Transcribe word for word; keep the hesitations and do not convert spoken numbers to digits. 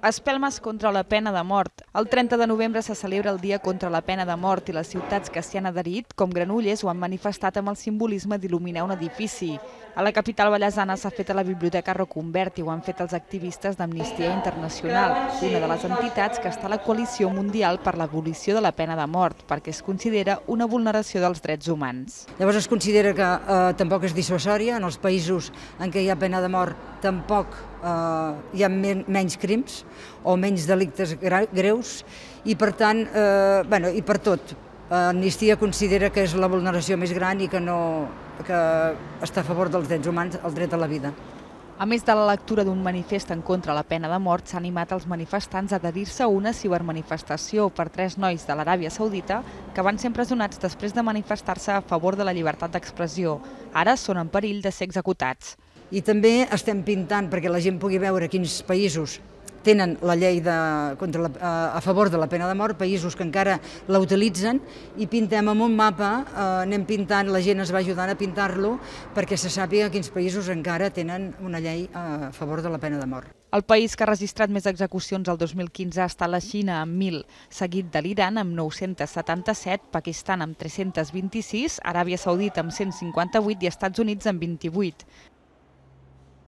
Espelmes contra la pena de mort. El trenta de novembre se celebra el Dia contra la pena de mort i les ciutats que s'hi han adherit, com Granollers, ho han manifestat amb el simbolisme d'il·luminar un edifici. A la capital ballesana s'ha fet a la Biblioteca Reconvert i ho han fet els activistes d'Amnistia Internacional, una de les entitats que està a la Coalició Mundial per l'Abolició de la Pena de Mort, perquè es considera una vulneració dels drets humans. Llavors es considera que eh, tampoc és dissuasòria. En els països en què hi ha pena de mort tampoc eh, hi ha men menys crims o menys delictes greus i per tant, eh, bueno, i per tot. Amnistia considera que és la vulneració més gran i que, no, que està a favor dels drets humans, el dret a la vida. A més de la lectura d'un manifest en contra la pena de mort, s'ha animat els manifestants a adherir-se a una cibermanifestació per tres nois de l'Aràbia Saudita que van ser empresonats després de manifestar-se a favor de la llibertat d'expressió. Ara són en perill de ser executats. I també estem pintant perquè la gent pugui veure quins països tenen la llei de, contra la, a favor de la pena de mort, països que encara la utilitzen, i pintem amb un mapa, eh, anem pintant, la gent es va ajudant a pintar-lo perquè se sàpiga quins països encara tenen una llei a favor de la pena de mort. El país que ha registrat més execucions el dos mil quinze ha estat la Xina amb mil, seguit de l'Iran amb nou-cents setanta-set, Pakistan amb tres-cents vint-i-sis, Aràbia Saudita amb cent cinquanta-vuit i Estats Units amb vint-i-vuit.